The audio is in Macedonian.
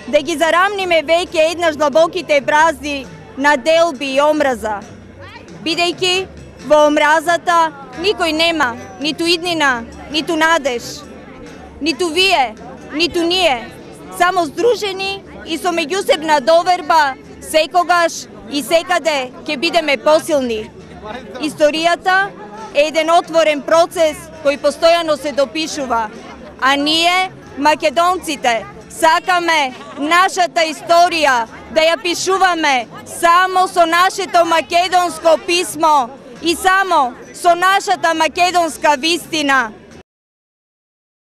да ги зарамниме веќе еднаш длабоките брази на делби и омраза. Бидејќи во омразата никој нема ниту иднина, ниту надеж. Ниту вие, ниту ние, само здружени и со меѓусебна доверба секогаш и секаде ќе бидеме посилни. Историјата е еден отворен процес кој постојано се допишува, а ние, македонците, сакаме нашата историја да ја пишуваме само со нашето македонско писмо и само со нашата македонска вистина.